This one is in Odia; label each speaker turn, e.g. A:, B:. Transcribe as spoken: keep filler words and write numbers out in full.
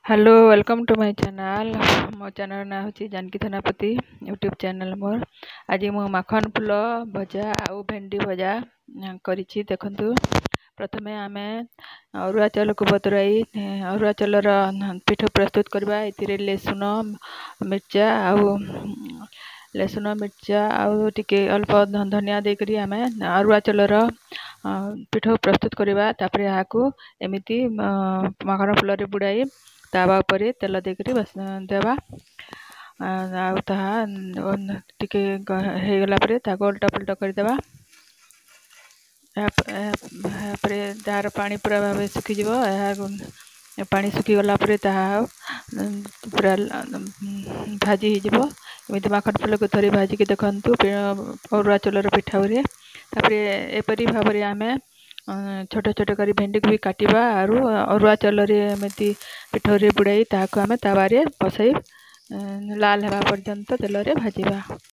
A: Hello, welcome to my channel. ମୋ ଚ୍ୟାନେଲ୍ ନାଁ ହେଉଛି ଜାନକୀ ଥେନାପତି, ୟୁଟ୍ୟୁବ୍ ଚ୍ୟାନେଲ୍ ମୋର। ଆଜି ମୁଁ ମାଖନ ଫୁଲ ଭଜା ଆଉ ଭେଣ୍ଡି ଭଜା କରିଛି, ଦେଖନ୍ତୁ। ପ୍ରଥମେ ଆମେ ଅରୁଆ ଚାଉଳକୁ ବତୁରାଇ ଅରୁଆ ଚାଉଳର ପିଠା ପ୍ରସ୍ତୁତ କରିବା। ଏଥିରେ ଲେସୁନ, ମିର୍ଚା ଆଉ ଲେସୁନ, ମିର୍ଚା ଆଉ ଟିକେ ଅଳ୍ପ ଧନିଆ ଦେଇକରି ଆମେ ଅରୁଆ ଚାଉଳର ପିଠା ପ୍ରସ୍ତୁତ କରିବା। ତାପରେ ଏହାକୁ ଏମିତି ମାଖନ ଫୁଲରେ ବୁଡ଼ାଇ ତାୱା ଉପରେ ତେଲ ଦେଇକରି ଦେବା, ଆଉ ତାହା ଟିକେ ହେଇଗଲା ପରେ ତାକୁ ଓଲଟା ପଲଟା କରିଦେବା। ଏହାପରେ ତାହାର ପାଣି ପୁରା ଭାବେ ଶୁଖିଯିବ। ଏହା ପାଣି ଶୁଖିଗଲା ପରେ ତାହା ପୁରା ଭାଜି ହେଇଯିବ। ଏମିତି ମାଖନ ଫୁଲକୁ ଥରେ ଭାଜିକି ଦେଖନ୍ତୁ ଅରୁଆ ଚାଉଳର ପିଠା। ତାପରେ ଏପରି ଭାବରେ ଆମେ ଛୋଟ ଛୋଟ କରି ଭେଣ୍ଡିକୁ ବି କାଟିବା, ଆରୁ ଅରୁଆ ଚାଉଳରେ ଏମିତି ପିଠଉରେ ବୁଡ଼ାଇ ତାହାକୁ ଆମେ ତାୱାରେ ବସାଇ ଲାଲ ହେବା ପର୍ଯ୍ୟନ୍ତ ତେଲରେ ଭାଜିବା।